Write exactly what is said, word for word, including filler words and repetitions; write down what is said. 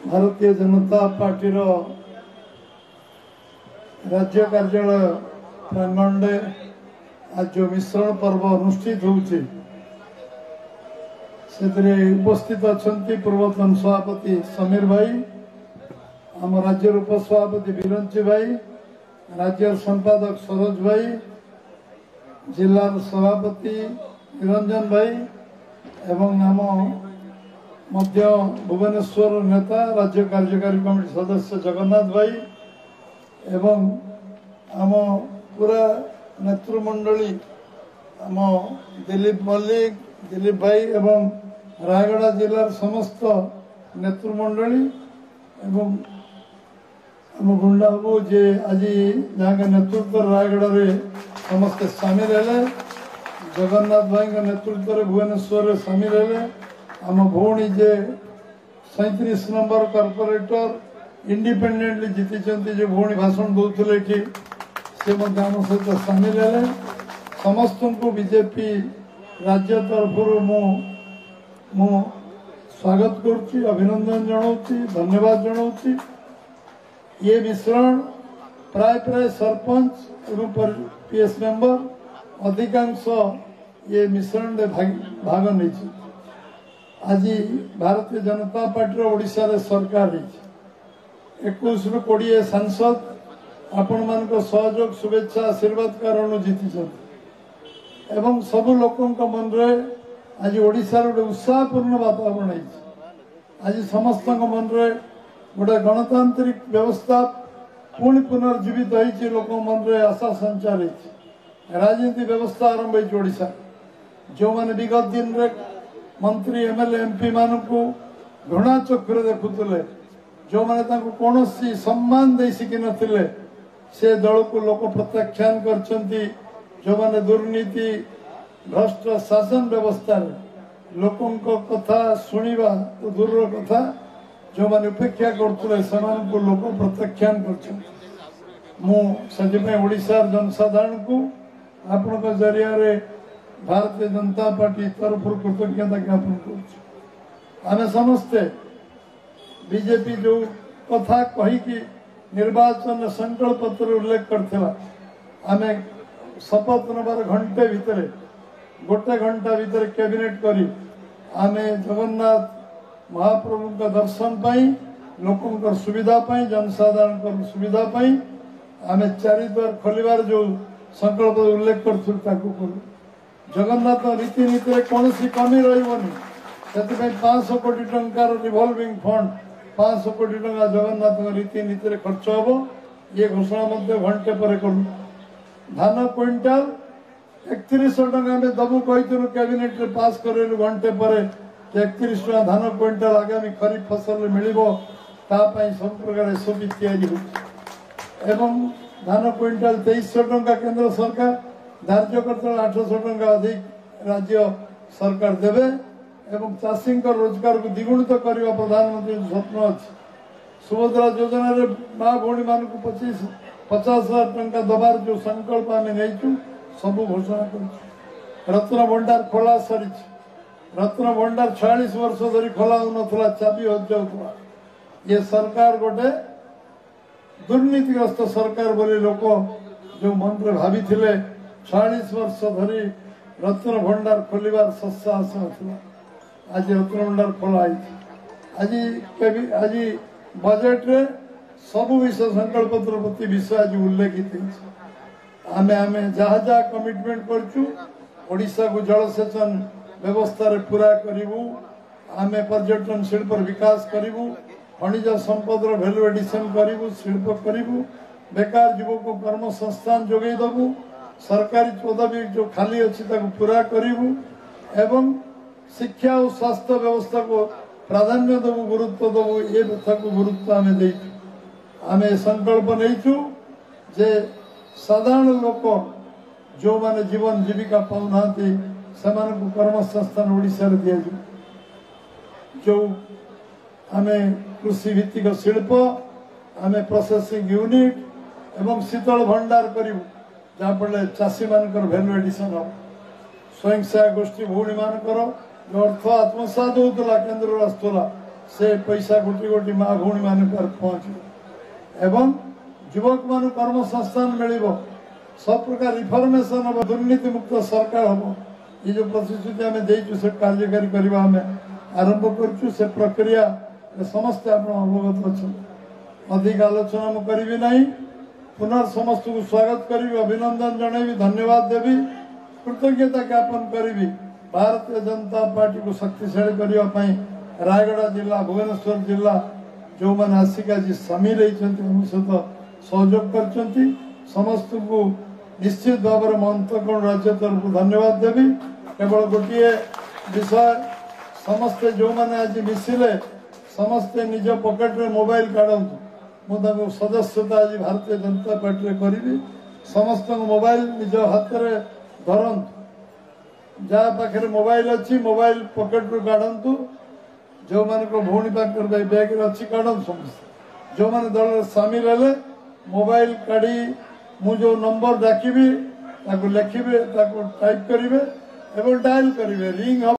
ଭାରତୀୟ ଜନତା ପାର୍ଟିର ରାଜ୍ୟ କାର୍ଯ୍ୟାଳୟ ପ୍ରାଙ୍ଗଣରେ ଆଜି ଯେଉଁ ମିଶ୍ରଣ ପର୍ବ ଅନୁଷ୍ଠିତ ହେଉଛି, ସେଥିରେ ଉପସ୍ଥିତ ଅଛନ୍ତି ପୂର୍ବତନ ସଭାପତି ସମୀର ଭାଇ, ଆମ ରାଜ୍ୟର ଉପସଭାପତି ବିରଞ୍ଚି ଭାଇ, ରାଜ୍ୟର ସମ୍ପାଦକ ସରୋଜ ଭାଇ, ଜିଲ୍ଲାର ସଭାପତି ନିରଞ୍ଜନ ଭାଇ ଏବଂ ଆମ ମଧ୍ୟ ଭୁବନେଶ୍ୱର ନେତା ରାଜ୍ୟ କାର୍ଯ୍ୟକାରୀ କମିଟି ସଦସ୍ୟ ଜଗନ୍ନାଥ ଭାଇ ଏବଂ ଆମ ପୁରା ନେତୃମଣ୍ଡଳୀ ଆମ ଦିଲୀପ ମଲ୍ଲିକ, ଦିଲୀପ ଭାଇ ଏବଂ ରାୟଗଡ଼ା ଜିଲ୍ଲାର ସମସ୍ତ ନେତୃମଣ୍ଡଳୀ ଏବଂ ଆମ ଗୁଣ୍ଡା ବାବୁ, ଯିଏ ଆଜି ଯାହାଙ୍କ ନେତୃତ୍ୱରେ ରାୟଗଡ଼ାରେ ସମସ୍ତେ ସାମିଲ ହେଲେ, ଜଗନ୍ନାଥ ଭାଇଙ୍କ ନେତୃତ୍ୱରେ ଭୁବନେଶ୍ୱରରେ ସାମିଲ ହେଲେ, ଆମ ଭଉଣୀ ଯେ ସଇଁତିରିଶ ନମ୍ବର କର୍ପୋରେଟର ଇଣ୍ଡିପେଣ୍ଡେଣ୍ଟଲି ଜିତିଛନ୍ତି, ଯେ ଭଉଣୀ ଭାଷଣ ଦେଉଥିଲେ ଏଠି, ସେ ମଧ୍ୟ ଆମ ସହିତ ସାମିଲ ହେଲେ। ସମସ୍ତଙ୍କୁ ବିଜେପି ରାଜ୍ୟ ତରଫରୁ ମୁଁ ମୁଁ ସ୍ୱାଗତ କରୁଛି, ଅଭିନନ୍ଦନ ଜଣାଉଛି, ଧନ୍ୟବାଦ ଜଣାଉଛି। ଇଏ ମିଶ୍ରଣ ପ୍ରାୟ ପ୍ରାୟ ସରପଞ୍ଚ ଏବଂ ପିଏସ୍ ମେମ୍ବର ଅଧିକାଂଶ ଇଏ ମିଶ୍ରଣରେ ଭାଗ ନେଇଛି। ଆଜି ଭାରତୀୟ ଜନତା ପାର୍ଟିର ଓଡ଼ିଶାରେ ସରକାର ହେଇଛି, ଏକୋଇଶରୁ କୋଡ଼ିଏ ସାଂସଦ ଆପଣମାନଙ୍କ ସହଯୋଗ, ଶୁଭେଚ୍ଛା, ଆଶୀର୍ବାଦ କାରଣରୁ ଜିତିଛନ୍ତି ଏବଂ ସବୁ ଲୋକଙ୍କ ମନରେ ଆଜି ଓଡ଼ିଶାର ଗୋଟେ ଉତ୍ସାହପୂର୍ଣ୍ଣ ବାତାବରଣ ହେଇଛି। ଆଜି ସମସ୍ତଙ୍କ ମନରେ ଗୋଟେ ଗଣତାନ୍ତ୍ରିକ ବ୍ୟବସ୍ଥା ପୁଣି ପୁନର୍ଜୀବିତ ହେଇଛି, ଲୋକଙ୍କ ମନରେ ଆଶା ସଞ୍ଚାର ହେଇଛି, ରାଜନୀତି ବ୍ୟବସ୍ଥା ଆରମ୍ଭ ହେଇଛି ଓଡ଼ିଶା। ଯେଉଁମାନେ ବିଗତ ଦିନରେ ମନ୍ତ୍ରୀ, ଏମ୍ଏଲ୍ଏ, ଏମ୍ପି ମାନଙ୍କୁ ଘୃଣା ଚକ୍ଷୁରେ ଦେଖୁଥିଲେ, ଯେଉଁମାନେ ତାଙ୍କୁ କୌଣସି ସମ୍ମାନ ଦେଇ ଶିଖିନଥିଲେ, ସେ ଦଳକୁ ଲୋକ ପ୍ରତ୍ୟାଖ୍ୟାନ କରିଛନ୍ତି। ଯେଉଁମାନେ ଦୁର୍ନୀତି, ଭ୍ରଷ୍ଟ ଶାସନ ବ୍ୟବସ୍ଥାରେ ଲୋକଙ୍କ କଥା ଶୁଣିବା ତ ଦୂରର କଥା, ଯେଉଁମାନେ ଉପେକ୍ଷା କରୁଥିଲେ, ସେମାନଙ୍କୁ ଲୋକ ପ୍ରତ୍ୟାଖ୍ୟାନ କରିଛନ୍ତି। ମୁଁ ସେଥିପାଇଁ ଓଡ଼ିଶାର ଜନସାଧାରଣଙ୍କୁ ଆପଣଙ୍କ ଜରିଆରେ ଭାରତୀୟ ଜନତା ପାର୍ଟି ତରଫରୁ କୃତଜ୍ଞତା ଜ୍ଞାପନ କରୁଛି। ଆମେ ସମସ୍ତେ ବିଜେପି ଯେଉଁ କଥା କହିକି ନିର୍ବାଚନ ସଂକଳ୍ପ ପତ୍ରରେ ଉଲ୍ଲେଖ କରିଥିଲା, ଆମେ ଶପଥ ନେବାର ଘଣ୍ଟେ ଭିତରେ, ଗୋଟେ ଘଣ୍ଟା ଭିତରେ କ୍ୟାବିନେଟ୍ କରି ଆମେ ଜଗନ୍ନାଥ ମହାପ୍ରଭୁଙ୍କ ଦର୍ଶନ ପାଇଁ, ଲୋକଙ୍କର ସୁବିଧା ପାଇଁ, ଜନସାଧାରଣଙ୍କର ସୁବିଧା ପାଇଁ ଆମେ ଚାରିଦ୍ୱାର ଖୋଲିବାର ଯେଉଁ ସଂକଳ୍ପ ଉଲ୍ଲେଖ କରିଥିଲୁ ତାକୁ କଲୁ। ଜଗନ୍ନାଥ ରୀତିନୀତିରେ କୌଣସି କମି ରହିବନି, ସେଥିପାଇଁ ପାଞ୍ଚଶହ କୋଟି ଟଙ୍କାର ରିଭଲଭିଂ ଫଣ୍ଡ, ପାଞ୍ଚଶହ କୋଟି ଟଙ୍କା ଜଗନ୍ନାଥଙ୍କ ରୀତିନୀତିରେ ଖର୍ଚ୍ଚ ହେବ, ଇଏ ଘୋଷଣା ମଧ୍ୟ ଘଣ୍ଟେ ପରେ କଲୁ। ଧାନ କୁଇଣ୍ଟାଲ ଏକତିରିଶହ ଟଙ୍କା ଆମେ ଦବୁ କହିଥିଲୁ, କ୍ୟାବିନେଟରେ ପାସ୍ କରେଇଲୁ ଘଣ୍ଟେ ପରେ ଏକତିରିଶ ଟଙ୍କା ଧାନ କୁଇଣ୍ଟାଲ ଆଗାମୀ ଖରିଫ ଫସଲରେ ମିଳିବ, ତା ପାଇଁ ସବୁ ପ୍ରକାର ଏସ୍ଓପି ତିଆରି ହେଉଛି। ଏବଂ ଧାନ କୁଇଣ୍ଟାଲ ତେଇଶଶହ ଟଙ୍କା କେନ୍ଦ୍ର ସରକାର ଧାର୍ଯ୍ୟ କରିଥିଲେ, ଆଠଶହ ଟଙ୍କା ଅଧିକ ରାଜ୍ୟ ସରକାର ଦେବେ ଏବଂ ଚାଷୀଙ୍କ ରୋଜଗାରକୁ ଦ୍ୱିଗୁଣିତ କରିବା ପ୍ରଧାନମନ୍ତ୍ରୀ ସ୍ୱପ୍ନ ଅଛି। ସୁଭଦ୍ରା ଯୋଜନାରେ ମା ଭଉଣୀମାନଙ୍କୁ ପଚିଶ ପଚାଶ ହଜାର ଟଙ୍କା ଦେବାର ଯେଉଁ ସଂକଳ୍ପ ଆମେ ନେଇଛୁ, ସବୁ ଘୋଷଣା କରୁଛୁ। ରତ୍ନ ଭଣ୍ଡାର ଖୋଲା ସରିଛି। ରତ୍ନ ଭଣ୍ଡାର ଛୟାଳିଶ ବର୍ଷ ଧରି ଖୋଲା ହେଉନଥିଲା, ଚାବି ହଜିଯାଉଥିଲା। ଇଏ ସରକାର ଗୋଟେ ଦୁର୍ନୀତିଗ୍ରସ୍ତ ସରକାର ବୋଲି ଲୋକ ଯେଉଁ ମନରେ ଭାବିଥିଲେ, ଛୟାଳିଶ ବର୍ଷ ଧରି ରତ୍ନ ଭଣ୍ଡାର ଖୋଲିବାର ସତ୍ସାହସ ନଥିଲା। ଆଜି ରତ୍ନ ଭଣ୍ଡାର ଖୋଲା ହେଇଛି। ଆଜି ଆଜି ବଜେଟରେ ସବୁ ବିଷୟ, ସଂକଳ୍ପତ୍ର ପ୍ରତି ବିଷୟ ଆଜି ଉଲ୍ଲେଖିତ ହେଇଛି। ଆମେ ଆମେ ଯାହା ଯାହା କମିଟମେଣ୍ଟ କରିଛୁ, ଓଡ଼ିଶାକୁ ଜଳସେଚନ ବ୍ୟବସ୍ଥାରେ ପୁରା କରିବୁ, ଆମେ ପର୍ଯ୍ୟଟନ ଶିଳ୍ପର ବିକାଶ କରିବୁ, ଖଣିଜ ସମ୍ପଦର ଭ୍ୟାଲୁ ଏଡିସନ କରିବୁ, ଶିଳ୍ପ କରିବୁ, ବେକାର ଯୁବକଙ୍କୁ କର୍ମସଂସ୍ଥାନ ଯୋଗାଇ ଦେବୁ, ସରକାରୀ ପଦବୀ ଯେଉଁ ଖାଲି ଅଛି ତାକୁ ପୁରା କରିବୁ ଏବଂ ଶିକ୍ଷା ଓ ସ୍ୱାସ୍ଥ୍ୟ ବ୍ୟବସ୍ଥାକୁ ପ୍ରାଧାନ୍ୟ ଦେବୁ, ଗୁରୁତ୍ୱ ଦେବୁ। ଏ କଥାକୁ ଗୁରୁତ୍ୱ ଆମେ ଦେଇଛୁ। ଆମେ ସଂକଳ୍ପ ନେଇଛୁ ଯେ ସାଧାରଣ ଲୋକ ଯେଉଁମାନେ ଜୀବନ ଜୀବିକା ପାଉନାହାନ୍ତି, ସେମାନଙ୍କୁ କର୍ମସଂସ୍ଥାନ ଓଡ଼ିଶାରେ ଦିଆଯିବ। ଯେଉଁ ଆମେ କୃଷି ଭିତ୍ତିକ ଶିଳ୍ପ, ଆମେ ପ୍ରୋସେସିଂ ୟୁନିଟ୍ ଏବଂ ଶୀତଳ ଭଣ୍ଡାର କରିବୁ, ଯାହାଫଳରେ ଚାଷୀମାନଙ୍କର ଭ୍ୟାଲୁ ଏଡିସନ୍ ହେବ। ସ୍ୱୟଂ ସହାୟକ ଗୋଷ୍ଠୀ ଭଉଣୀମାନଙ୍କର ଯେଉଁ ଅର୍ଥ ଆତ୍ମସାତ ହେଉଥିଲା, କେନ୍ଦ୍ରରୁ ଆସୁଥିଲା, ସେ ପଇସା ଗୋଟି ଗୋଟି ମା ଭଉଣୀମାନଙ୍କ ପାଖରେ ପହଞ୍ଚିବ ଏବଂ ଯୁବକମାନଙ୍କୁ କର୍ମସଂସ୍ଥାନ ମିଳିବ। ସବୁ ପ୍ରକାର ରିଫର୍ମେସନ୍ ହେବ, ଦୁର୍ନୀତିମୁକ୍ତ ସରକାର ହେବ। ଏ ଯେଉଁ ପ୍ରତିଶ୍ରୁତି ଆମେ ଦେଇଛୁ ସେ କାର୍ଯ୍ୟକାରୀ କରିବା ଆମେ ଆରମ୍ଭ କରୁଛୁ। ସେ ପ୍ରକ୍ରିୟା ସମସ୍ତେ ଆପଣ ଅବଗତ ଅଛନ୍ତି। ଅଧିକ ଆଲୋଚନା ମୁଁ କରିବି ନାହିଁ। ପୁନଃ ସମସ୍ତଙ୍କୁ ସ୍ୱାଗତ କରିବି, ଅଭିନନ୍ଦନ ଜଣାଇବି, ଧନ୍ୟବାଦ ଦେବି, କୃତଜ୍ଞତା ଜ୍ଞାପନ କରିବି। ଭାରତୀୟ ଜନତା ପାର୍ଟିକୁ ଶକ୍ତିଶାଳୀ କରିବା ପାଇଁ ରାୟଗଡ଼ା ଜିଲ୍ଲା, ଭୁବନେଶ୍ୱର ଜିଲ୍ଲା ଯେଉଁମାନେ ଆସିକି ଆଜି ସାମିଲ ହେଇଛନ୍ତି, ଆମ ସହିତ ସହଯୋଗ କରିଛନ୍ତି, ସମସ୍ତଙ୍କୁ ନିଶ୍ଚିତ ଭାବରେ ମୁଁ ଅନ୍ତଃକରଣ ରାଜ୍ୟ ତରଫରୁ ଧନ୍ୟବାଦ ଦେବି। କେବଳ ଗୋଟିଏ ବିଷୟ, ସମସ୍ତେ ଯେଉଁମାନେ ଆଜି ମିଶିଲେ ସମସ୍ତେ ନିଜ ପକେଟରେ ମୋବାଇଲ କାଢ଼ନ୍ତୁ। ମୁଁ ତାଙ୍କୁ ସଦସ୍ୟତା ଆଜି ଭାରତୀୟ ଜନତା ପାର୍ଟିରେ କରିବି। ସମସ୍ତଙ୍କ ମୋବାଇଲ ନିଜ ହାତରେ ଧରନ୍ତୁ। ଯାହା ପାଖରେ ମୋବାଇଲ ଅଛି ମୋବାଇଲ ପକେଟରୁ କାଢ଼ନ୍ତୁ। ଯେଉଁମାନଙ୍କ ଭଉଣୀ ପାଖରେ ବ୍ୟାଗରେ ଅଛି କାଢ଼ନ୍ତୁ ସମସ୍ତେ। ଯେଉଁମାନେ ଦଳରେ ସାମିଲ ହେଲେ ମୋବାଇଲ କାଢ଼ି ମୁଁ ଯେଉଁ ନମ୍ବର ଡାକିବି ତାକୁ ଲେଖିବେ, ତାକୁ ଟାଇପ୍ କରିବେ ଏବଂ ଡାଏଲ୍ କରିବେ, ରିଙ୍ଗ ହେବ।